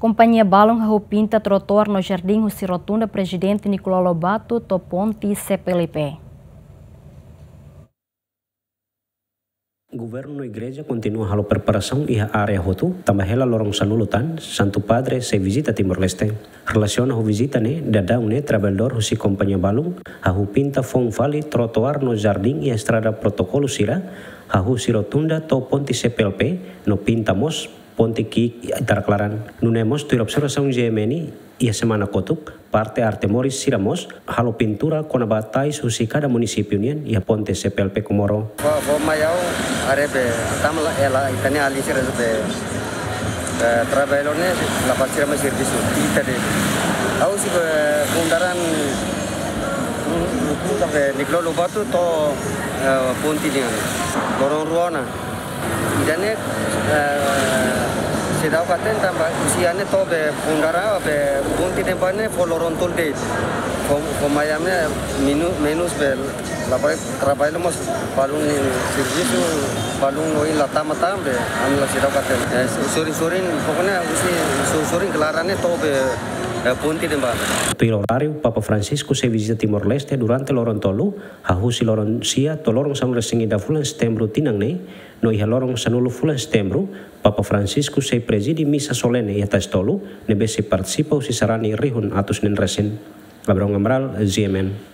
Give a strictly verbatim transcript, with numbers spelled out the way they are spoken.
Kompañia balun hahú pinta trotoar no jardín husi rotunda Prezidente Nicolau Lobato to'o ponte C P L P. Governu no igreja kontinua halo preparasaun iha área hotu, tanba hela loron sanulu tan, Santu Padre sei vizita Timor-Leste. Relasiona ho vizita ne'e, daudaun ne'e trabalhadór husi kompañia balun hahú pinta foun fali trotoar no jardín iha estrada protokolu sira, hahú husi rotunda to'o ponte C P L P, no pinta mós ponte ki'ik iha Tarak Laran. Nune'e mós tuir observasaun G M N, iha semana kotuk, parte arte moris sira mós halo pintura kona-ba tais husi kada munisípiu nian iha ponte C P L P Comoro. Fó, fó mai ha'u haree be, tama la, ela, ita-nia alin sira be, eh, trabalho ne'e, la fó sira mai servisu, ita de'it. Ha'u husi be, fundaran, fun-, fun-, be, Nicolau Lobato to'o, eh, ponte nian. Loron rua ona. Ida-ne'e, eh, seidauk hatene tanba husi iha ne'e to'o be fundaran be ponte ne'ebá ne'e fó loron tolu de'it. Fó, fó mai ami minu-, menus be la bele trabalho mós balun servisu balun ohin la tama tan be ami la seidauk hatene. Eh, sorin-sorin, pokoknya husi so-, sorin klaran ne'e to'o be, eh, ponte ne'ebá. Tuir oráriu, Papa Francisco sei vizita Timor-Leste durante loron tolu, hahú husi loron sia to'o loron sanulu-resin-ida fulan Setembru tinan ne'e, no iha loron sanulu fulan Setembru, Papa Francisco sei prezide misa solene iha Taix Tolu, ne'ebé sei partisipa husi sarani rihun atus neen resin. Abrão Amaral, G M N.